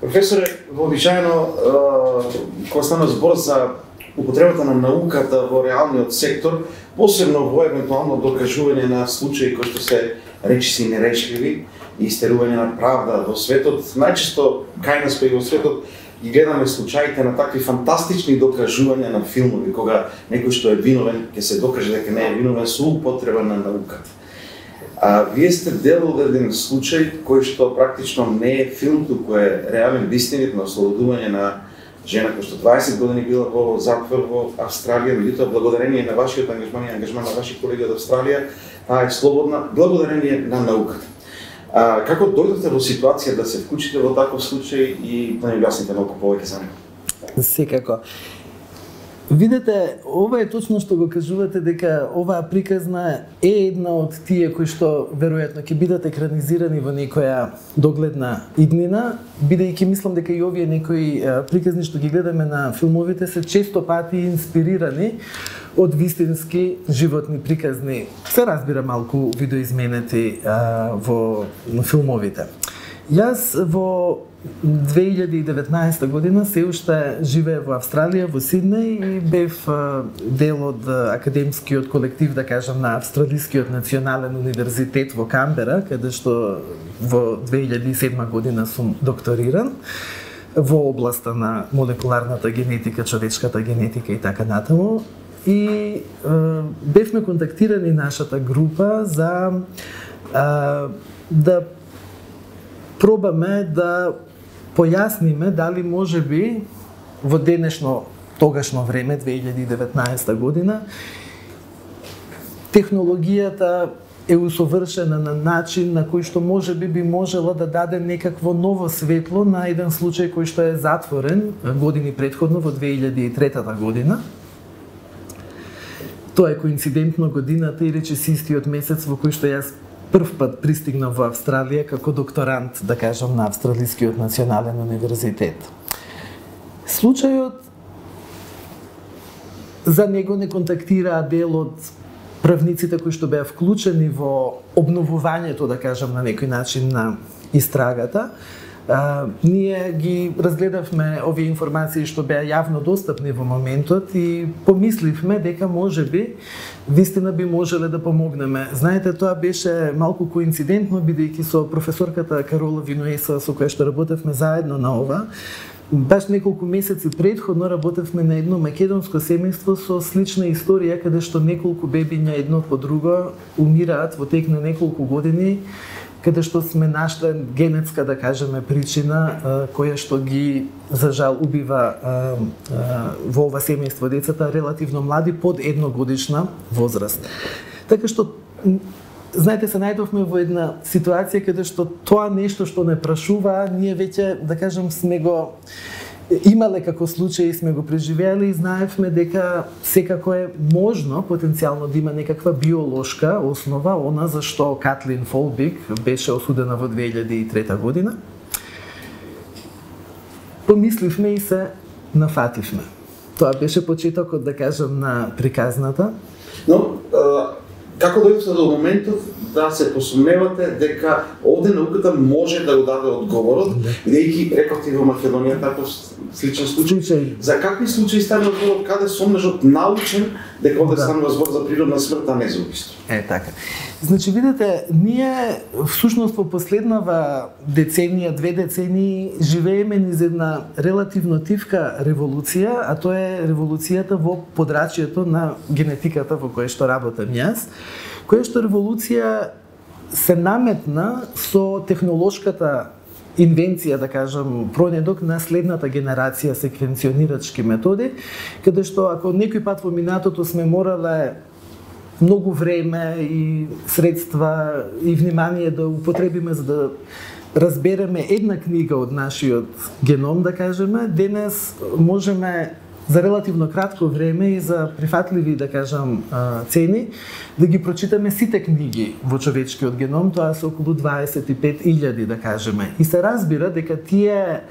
Професоре, вообичаено кога стана збор за употребата на науката во реалниот сектор, посебно во евентуално докажување на случаи кои што се речиси нерешливи и истерување на правда во светот, најчесто кај нас па и во светот ги гледаме случаите на такви фантастични докажувања на филмови, кога некој што е виновен ќе се докаже дека не е виновен со употреба на науката. Вие сте дел од еден случај кој што практично не е филм, туку е реален вистинит на ослободување на жена која што 20 години била во затвор во Австралија, меѓутоа благодарение на вашиот ангажман и ангажман на ваши колеги од Австралија, таа е слободна благодарение на науката. Како дојдовте во ситуација да се вклучите во таков случај и да ни објасните малку повеќе за него? Секако. Видете, ова е точно што го кажувате, дека оваа приказна е една од тие кои што веројатно ќе бидат екранизирани во некоја догледна иднина, бидејќи мислам дека и овие некои приказни што ги гледаме на филмовите се често пати инспирирани од вистински животни приказни. Се разбира малку видоизменети во филмовите. Јас во 2019 година се уште живеев во Австралија, во Сиднеј и бев дел од академскиот колектив, да кажам, на Австралискиот национален универзитет во Камбера, каде што во 2007 година сум докториран во областа на молекуларната генетика, човечката генетика и така натаму. И бевме контактирани нашата група за да пробаме да појасниме дали може би во денешно тогашно време 2019 година технологијата е усовршена на начин на кој што може би можела да даде некакво ново светло на еден случај кој што е затворен години претходно во 2003 година. Тоа е коинцидентно годината и речиси истиот месец во кој што јас прв пат пристигнав во Австралија како докторант, да кажам, на Австралискиот национален универзитет. Случајот за него не контактираа дел од правниците кои што беа вклучени во обновувањето, да кажам, на некој начин на истрагата. Ние ги разгледавме овие информации што беа јавно достапни во моментот и помисливме дека можеби вистина би можеле да помогнеме. Знаете, тоа беше малку коинцидентно, бидејќи со професорката Карола Винуеса, со која што работевме заедно на ова, баш неколку месеци претходно работевме на едно македонско семејство со слична историја, каде што неколку бебиња едно по друго умираат во тек на неколку години, каде што сме нашли генетска, да кажеме, причина која што ги, за жал, убива во ова семејство децата релативно млади, под едногодишна возраст. Така што, знаете, се најдовме во една ситуација каде што тоа нешто што не прашува, ние веќе, да кажем, сме го имале како случај и сме го преживеале и знаевме дека секако е можно потенцијално да има некаква биолошка основа, она за што Катлин Фолбиг беше осудена во 2003 година. Помисливме и се нафативме. Тоа беше почетокот, да кажам, на приказната. Но, како дојдовте до моментот да се посумневате дека овде науката може да го даде одговорот, бидејќи рековте во Македонија таков сличен случај. За какви случаи станува збор, каде сомнежот научен дека овде станува збор за природна смрт, а не за убиство? Така. Значи, видите, ние всушност во последнава деценија, 2 децении, живееме низ една релативно тивка револуција, а тоа е револуцијата во подрачјето на генетиката во која што работам јас, која што револуција се наметна со технолошката инвенција, да кажам, пронедок на следната генерација секвенционирачки методи, каде што ако некој пат во минатото сме морале многу време и средства и внимание да употребиме за да разбереме една книга од нашиот геном, да кажеме, денес можеме за релативно кратко време и за прифатливи, да кажам, цени, да ги прочитаме сите книги во човечкиот геном, тоа се околу 25.000, да кажеме. И се разбира дека тие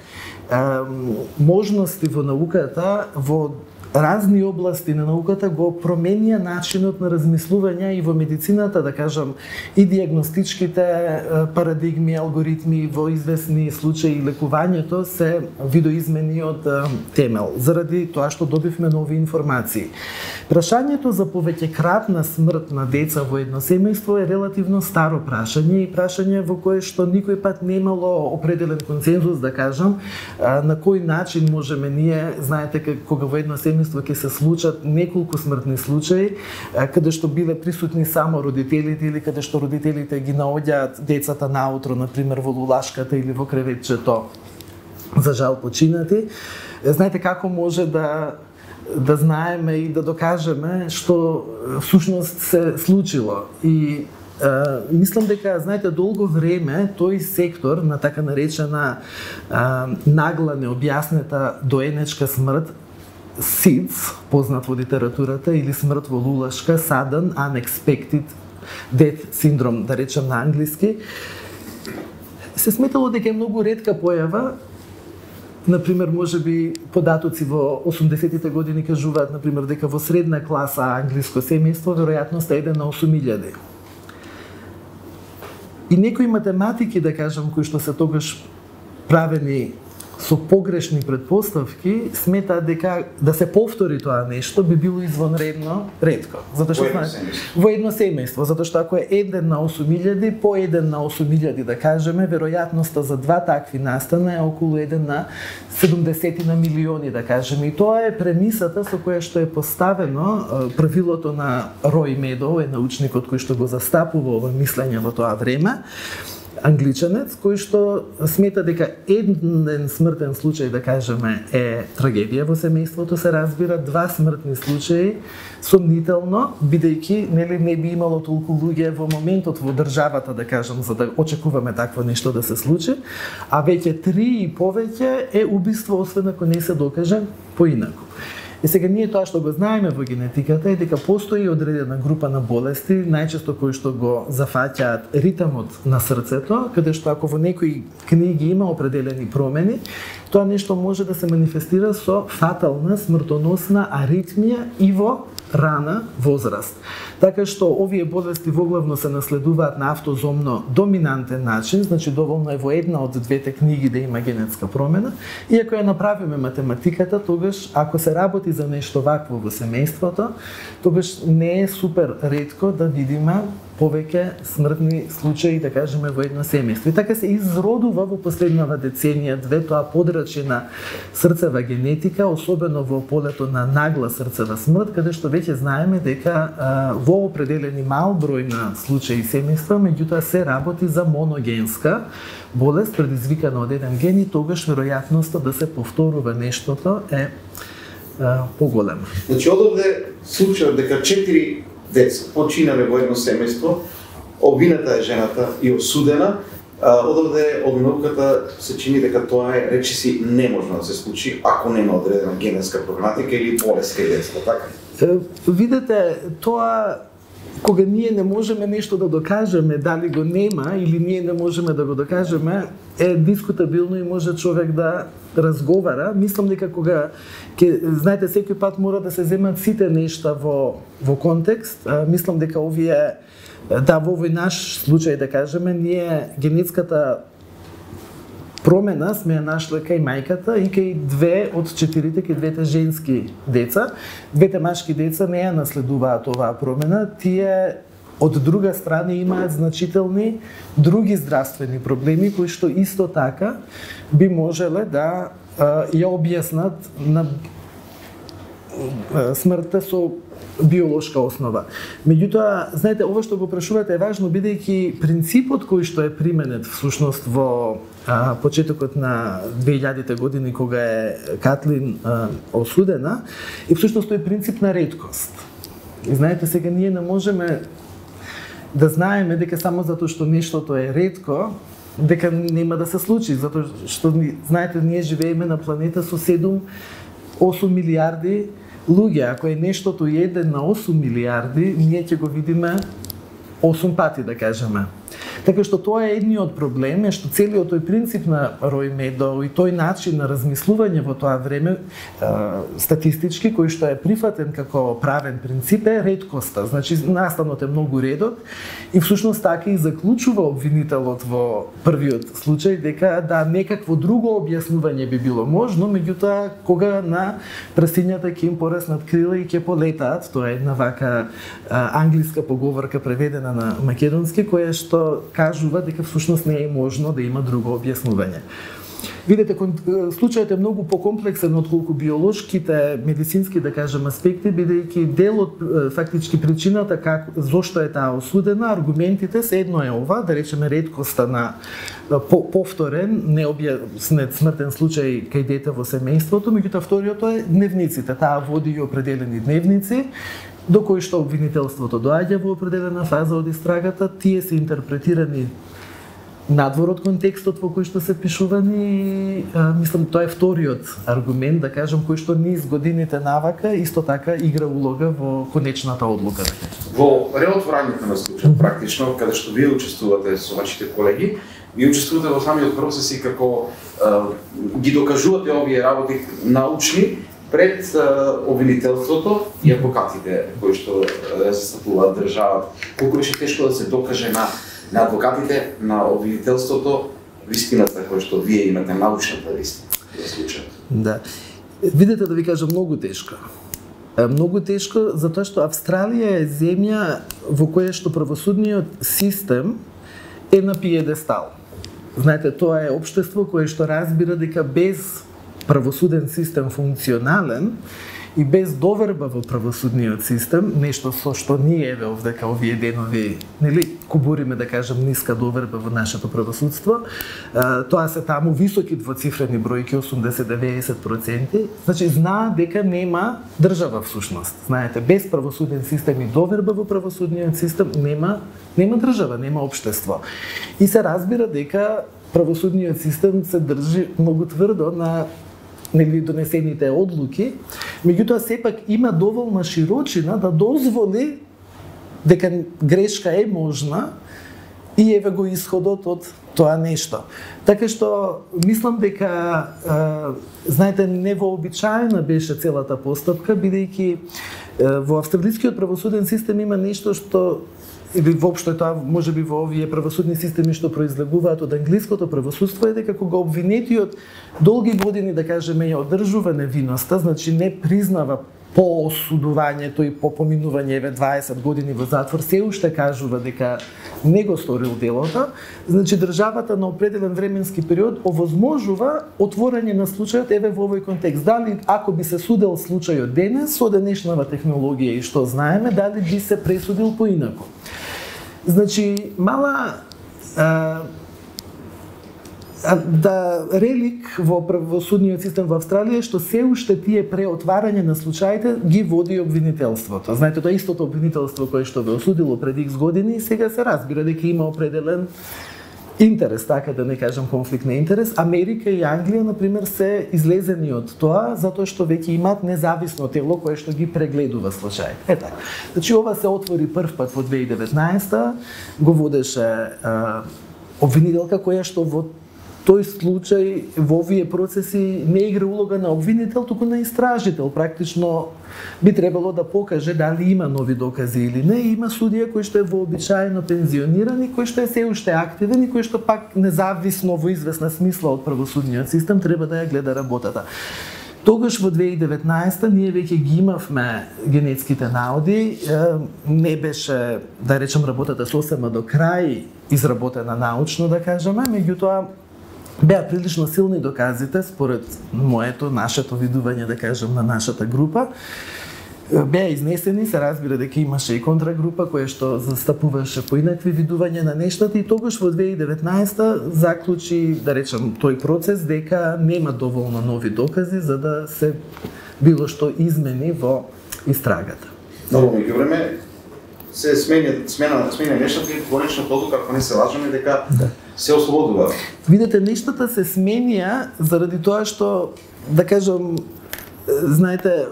можности во науката во разни области на науката го променија начинот на размислување и во медицината, да кажам, и диагностичките парадигми, алгоритми во известни случаи лекувањето се видоизмени од темел, заради тоа што добивме нови информации. Прашањето за повеќекратна смрт на деца во едно семејство е релативно старо прашање и прашање во кое што никој пат немало определен консензус, да кажам, на кој начин можеме ние, знаете, кога во едно семејство ќе се случат неколку смртни случаи, каде што биле присутни само родителите или каде што родителите ги наоѓаат децата наутро, например во лулашката или во креветчето, за жал починати. Знаете како може да знаеме и да докажеме што всушност се случило. И мислам дека, знаете, долго време тој сектор на така наречена нагла необјаснета доенечка смрт, SIDS, познат во литературата, или смрт во лулашка, Sudden Unexpected Death Syndrome, да речем на англиски, се сметало дека е многу ретка појава. Например, можеби податоци во 80-тите години кажуваат, например, дека во средна класа англиско семејство веројатноста е 1 на 8.000. И некои математики, да кажам, кои што се тогаш правени со погрешни предпоставки, сметаат дека да се повтори тоа нешто би било извонредно ретко. Затоа што во едно семејство, затоа што ако е 1 на 8.000, по 1 на 8.000 да кажеме, веројатноста за два такви настана е околу 1 на 70 на милиони, да кажеме. И тоа е премисата со која што е поставено правилото на Рој Медоу, е научникот кој што го застапува ова мислење во тоа време, англичанец, кој што смета дека еден смртен случај, да кажеме, е трагедија во семејството, се разбира, два смртни случаи сомнително, бидејќи не би имало толку луѓе во моментот во државата, да кажам, за да очекуваме такво нешто да се случи, а веќе 3 и повеќе е убиство, освен ако не се докаже поинаку. И сега ние тоа што го знаеме во генетиката е дека постои одредена група на болести, најчесто кои што го зафаќаат ритмот на срцето, каде што ако во некои книги има определени промени, тоа нешто може да се манифестира со фатална, смртоносна аритмија и во рана возраст. Така што овие болести воглавно се наследуваат на автозомно доминантен начин, значи доволно е во една од двете книги да има генетска промена, и ако ја направиме математиката, тогаш ако се работи за нешто вакво во семејството, тогаш не е супер ретко да видиме повеќе смртни случаи, да кажеме, во едно семејство. И така се изродува во последнава деценија две тоа подрачје на срцева генетика, особено во полето на нагла срцева смрт, каде што веќе знаеме дека во определени мал број на случаи семејства, меѓутоа се работи за моногенска болест предизвикана од еден ген и тогаш веројатноста да се повторува нештото е поголема. Значи, одовде случајот дека 4 деца починале во едно семејство, обвината е жената и осудена, одовде обвинувката се чини дека тоа е речиси неможно да се случи ако нема одредена генетска проблематика или болест кај децата, така? Видете, тоа кога ние не можеме нешто да докажеме, дали го нема или ние не можеме да го докажеме, е дискутабилно и може човек да разговара. Мислам дека кога знаете, секој пат мора да се земат сите нешта во контекст. Мислам дека овие, да, во овој наш случај, да кажеме, ние генетската промена сме ја нашле кај мајката и кај 2 од 4, кај двете женски деца. Двете машки деца не ја наследуваат оваа промена, тие од друга страна имаат значителни други здравствени проблеми кои што исто така би можеле да ја објаснат на смртта со биолошка основа. Меѓутоа, знаете, ова што го прашувате е важно, бидејќи принципот кој што е применет всушност во почетокот на 2000-те години кога е Катлин осудена, и всушност тој принцип на реткост. И знаете, сега ние не можеме да знаеме дека само затоа што нештото е ретко, дека нема да се случи, затоа што знаете, ние живееме на планета со 7-8 милиарди луѓе. Ако е нештото 1 на 8 милиарди, ние ќе го видиме 8 пати, да кажеме. Така што тоа е едниот проблем, е што целиот тој принцип на Рој Медоу и тој начин на размислување во тоа време статистички, кој што е прифатен како правен принцип, е реткоста. Значи, настанот е многу редок и всушност така и заклучува обвинителот во првиот случај дека да некакво друго објаснување би било можно, меѓутоа кога на прасињата ќе им пораснат крила и ќе полетаат, тоа е една вака англиска поговорка преведена на македонски, која што кажува дека всушност не е можно да има друго објаснување. Видете, случајот е многу покомплексен отколку биолошките, медицински, да кажем, аспекти, бидејќи дел од фактички причината зошто е таа осудена, аргументите се едно е ова, да речеме реткоста на повторен, необјаснет смртен случај кај дете во семејството, меѓутоа вториото е дневниците, таа води и определени дневници, до кои што обвинителството доаѓа во определена фаза од истрагата, тие се интерпретирани надвор од контекстот во кој што се пишувани и мислам тоа е вториот аргумент, да кажам, кој што низ годините навака исто така игра улога во конечната одлука. Во реотворањето на случајот практично, каде што вие учествувате со вашите колеги, вие учествувате во самиот процес и како ги докажувате овие работи научни пред обвинителството и адвокатите кои што застапуваат државата. Колку беше тешко да се докаже на адвокатите, на обвинителството, вистината која што вие имате, научната вистина во случајот? Да. Видете, да ви кажам, многу тешко. Многу тешко затоа што Австралија е земја во која што правосудниот систем е на пиедестал. Знаете, тоа е општество кое што разбира дека без правосуден систем функционален и без доверба во правосудниот систем, нешто со што ние овдека овие денови, нели, кубуриме, да кажем, ниска доверба во нашето правосудство, тоа се таму високи двоцифрени бројки, 80-90%, значи знаат дека нема држава всушност. Знаете, без правосуден систем и доверба во правосудниот систем нема држава, нема општество. И се разбира дека правосудниот систем се држи многу тврдо на донесените одлуки, меѓутоа сепак има доволна широчина да дозволи дека грешка е можна и еве го исходот од тоа нешто. Така што мислам дека знаете, невообичаена беше целата постапка, бидејќи во австралискиот правосуден систем има нешто што или воопшто тоа можеби во овие правосудни системи што произлегуваат од англиското правосудство е дека кога обвинетиот долги години, да кажеме, ја одржува невиноста, значи не признава по осудувањето и по поминување еве 20 години во затвор, се уште кажува дека не го сторил делото, значи државата на определен временски период овозможува отворање на случајот еве во овој контекст. Дали ако би се судел случајот денес со денешнава технологија и што знаеме, дали би се пресудил поинаку. Значи, мала да релик во правосудниот систем во Австралија што се уште тие преотварање на случаите ги води обвинителството. Знаете, тоа истото обвинителство кое што ве осудило пред X години и сега се разбира дека има определен интерес, така да не кажам конфликт на интерес. Америка и Англија, например, се излезени од тоа затоа што веќе имаат независно тело кое што ги прегледува случаи. Така. Значи ова се отвори прв пат во 2019, го водеше обвинителка која што во тој случај во овие процеси не игра улога на обвинител, туку на истражител. Практично би требало да покаже дали има нови докази или не. Има судија кој што е вообичаено пензиониран и кој што е се уште активен и кој што пак независно во известна смисла од правосудниот систем треба да ја гледа работата. Тогаш во 2019 ние веќе ги имавме генетските наоди, не беше, да речем, работата сосема до крај изработена научно, да кажеме, меѓутоа беа прилично силни доказите, според моето, нашето видување, да кажем, на нашата група. Беа изнесени, се разбира дека имаше и контрагрупа која што застапуваше поинакви видувања на нештата и тогаш во 2019 заклучи, да речем, тој процес дека нема доволно нови докази за да се било што измени во истрагата. Но во меѓувреме се смена нештата и конечната одлука, ако не се лажеме, дека се ослободува. Видете, нештата се сменија заради тоа што, да кажам, знаете,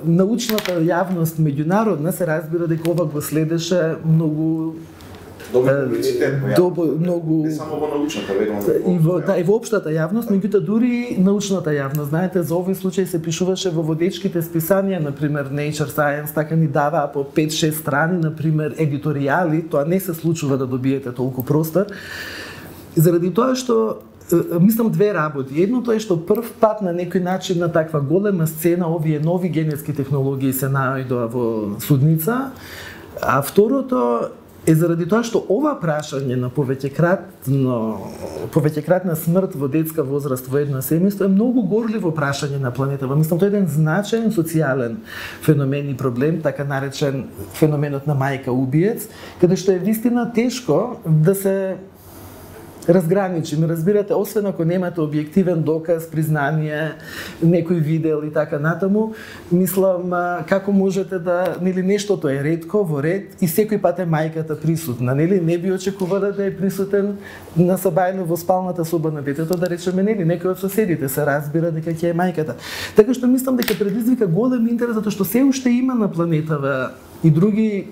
научната јавност меѓународна се разбира дека ова го следеше многу многу не само во научната, и во општата јавност, меѓутоа дури научната јавност. Знаете, за овој случај се пишуваше во водечките списанија, например Nature Science, така ни даваа по 5-6 страни, например едиторијали, тоа не се случува да добиете толку простор. Заради тоа што мислам две работи. Едното е што прв пат на некој начин на таква голема сцена овие нови генетски технологии се наоѓаа во судница, а второто е заради тоа што ова прашање на повеќекратна смрт во детска возраст во едно семејство е многу горливо прашање на планетава. Мислам, тоа е еден значаен социјален феномен и проблем, така наречен феноменот на мајка убиец, каде што е вистина тешко да се разграничи. Разбирате, освен ако немате објективен доказ, признание, некој видел и така натаму, мислам како можете да, нели, нештото е ретко во ред и секој пат е мајката присутна, нели? Не би очекувала да е присутен на сабајно во спалната соба на детето, да речеме, нели, некој од соседите се разбира дека ќе е мајката. Така што мислам дека предизвика голем интерес затоа што се уште има на планетава и други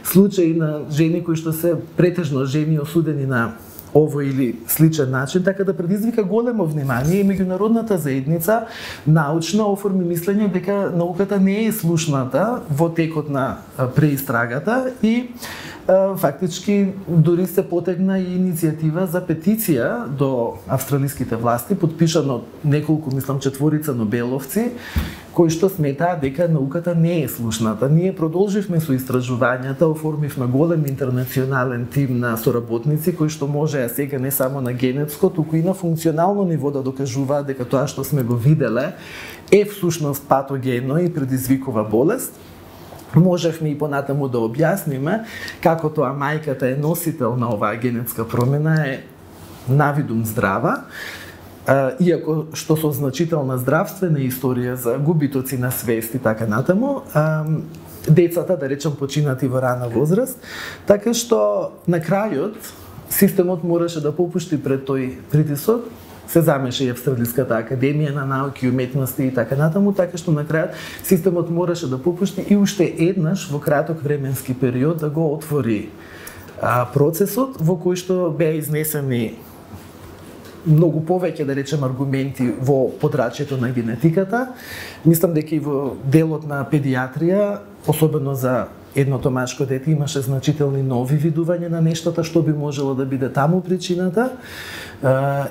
случаи на жени кои што се претежно жени осудени на овој или сличен начин, така да предизвика големо внимание и меѓународната заедница научно оформи мислење дека науката не е слушната во текот на преистрагата и фактички дури се потегна и иницијатива за петиција до австралиските власти, подпишана од неколку, мислам, 4 нобеловци, кои што сметаа дека науката не е слушната. Ние продолживме со истражувањата, оформивме голем интернационален тим на соработници кои што можеа сега не само на генетско, туку и на функционално ниво да докажуваат дека тоа што сме го виделе е всушност патогено и предизвикува болест. Можевме и понатаму да објасниме како тоа мајката е носител на оваа генетска промена е навидум здрава, иако што со значителна здравствена историја за губитоци на свест и така натаму, децата, да речем, починати во рана возраст, така што на крајот системот мораше да попушти пред тој притисок, се замеша и Австралиската академија на науки и уметности и така натаму, така што на крајот системот мораше да попушти и уште еднаш во краток временски период да го отвори процесот во кој што беа изнесени многу повеќе, да речем, аргументи во подрачјето на генетиката. Мислам дека и во делот на педиатрија, особено за едното машко дете, имаше значителни нови видувања на нештата што би можело да биде таму причината.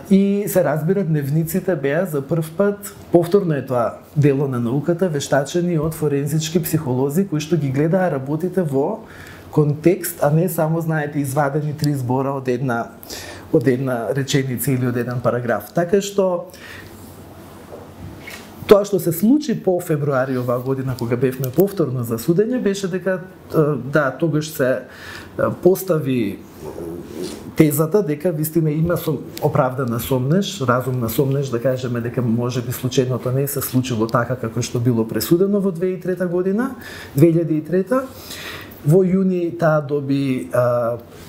И се разбира, дневниците беа за прв пат, повторно е тоа дело на науката, вештачени од форензички психолози кои што ги гледаа работите во контекст, а не само, знаете, извадени 3 збора од една реченица или од еден параграф. Така што тоа што се случи по февруари оваа година, кога бевме повторно за судење, беше дека да, тогаш се постави тезата дека вистина има оправдана сомнеш, разумна сомнеш, да кажеме дека можеби случајното не се случило така како што било пресудено во 2003 година, 2003. Во јуни таа доби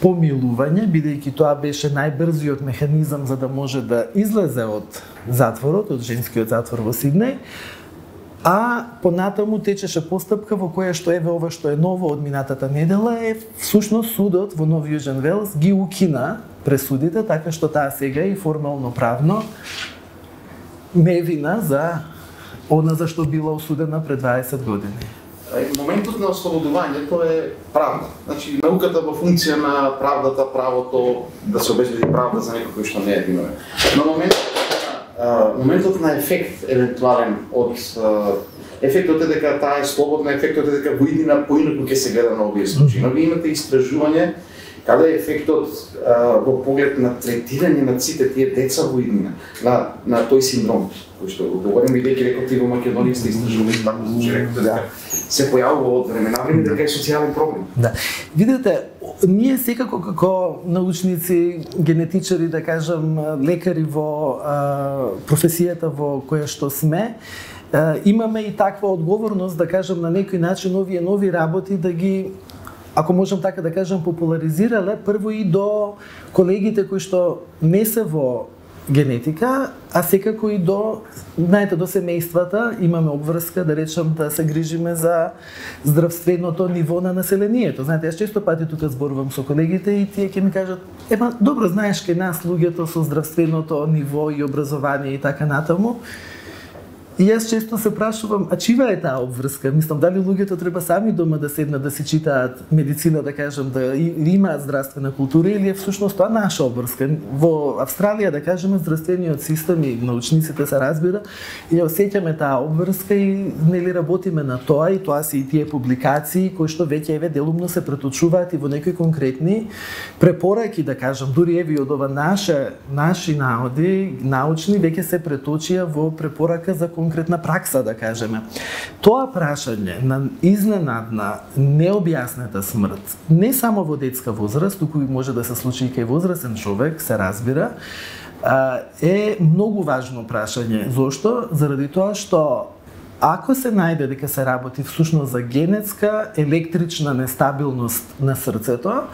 помилување, бидејќи тоа беше најбрзиот механизам за да може да излезе од затворот, од женскиот затвор во Сиднеј, а понатаму течеше постапка во која што еве ова што е ново од минатата недела е всушност судот во Нов Јужен Велс ги укина пресудите, така што таа сега е формално правно невина за она за што била осудена пред 20 години. Моментот на ослободувањето е правда. Значи, науката во функција на правдата, правото да се обезбеди правда за некој кој што не е виновен. Но моментот на ефект евентуален од ефектот е дека таа е слободна, ефектот е дека во иднина поинаку ќе се гледа на овие случаи. Но вие имате истражување каде е ефектот во поглед на третирање на сите тие деца во иднина, на тој синдром, кој што го говорим, бидејќи рекоти во Македонија сте истражували така случаи, рекоте дека се појавува од време на време дека е социјален проблем. Да. Видете, ние секако како научници, генетичари, да кажам, лекари во професијата во која што сме, имаме и таква одговорност, да кажам, на некој начин овие нови работи да ги, ако можам така да кажам, популаризирале прво и до колегите кои што не се во генетика, а секако и до, знаете, до семејствата имаме обврска, да речам, да се грижиме за здравственото ниво на населението. Знаете, јас често пати тука зборувам со колегите и тие ќе ми кажат, добро, знаеш, кај нас луѓето со здравственото ниво и образование и така натаму. И јас често се прашувам, а чива е таа обврска? Мислам, дали луѓето треба сами дома да седнат да си читаат медицина, да кажем, да имаат здравствена култура, или е всушност тоа наша обврска? Во Австралија, да кажеме, здравствениот систем и научниците се разбира, и осеќаме таа обврска и нели работиме на тоа, и тоа се и тие публикации кои што веќе делумно се преточуваат и во некои конкретни препораки, да кажем, дури еве од ова наши наоди, научни, веќе се преточија во препорака за конкретна пракса, да кажеме. Тоа прашање на изненадна, необјаснета смрт, не само во детска возраст, туку може да се случи и кај возрастен човек, се разбира, е многу важно прашање. Зошто? Заради тоа што ако се најде дека се работи всушност за генетска електрична нестабилност на срцето,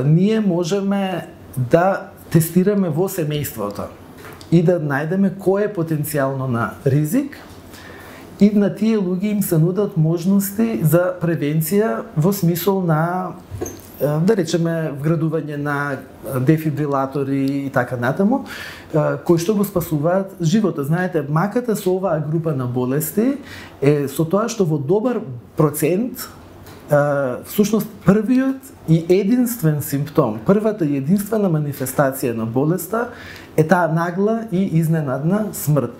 ние можеме да тестираме во семејството и да најдеме кој е потенцијално на ризик, и на тие луѓе им се нудат можности за превенција во смисол на, да речеме, вградување на дефибрилатори и така натаму, кои што го спасуваат живота. Знаете, маката со оваа група на болести е со тоа што во добар процент всушност првиот и единствен симптом, првата и единствена манифестација на болеста е таа нагла и изненадна смрт.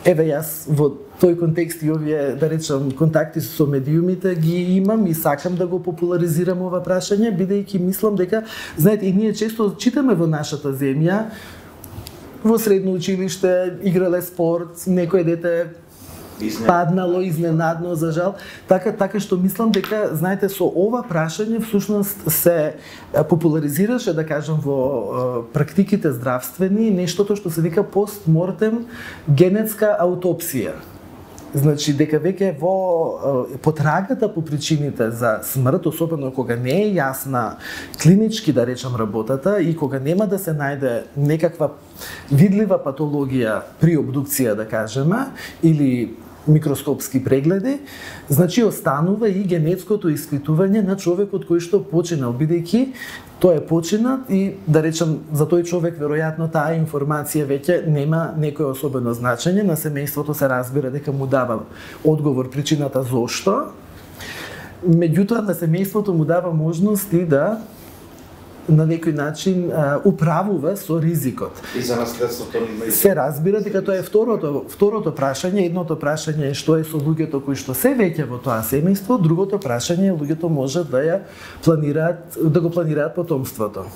Еве, јас во тој контекст и овие, да речам, контакти со медиумите ги имам и сакам да го популаризирам ова прашање, бидејќи мислам дека, знаете, и ние често читаме во нашата земја, во средно училиште, играле спорт, некој дете паднало изненадно, за жал. Така што мислам дека, знаете, со ова прашање всушност се популаризираше, да кажем, во практиките здравствени нештото што се вика постмортем генетска аутопсија. Значи, дека веќе во потрагата по причините за смрт, особено кога не е јасна клинички, да речам, работата и кога нема да се најде некаква видлива патологија при обдукција, да кажеме, или микроскопски прегледи, значи останува и генетското испитување на човекот кој што починал, бидејќи тој е починат и, да речем, за тој човек веројатно таа информација веќе нема некој особено значење, на семејството се разбира дека му дава одговор причината зошто, меѓутоа на семејството му дава можност и да на некој начин управува со ризикот. И за наследството се разбира дека тоа е второто прашање. Едното прашање е што е со луѓето кои што се веќе во тоа семејство, другото прашање е луѓето можат да го планираат потомството.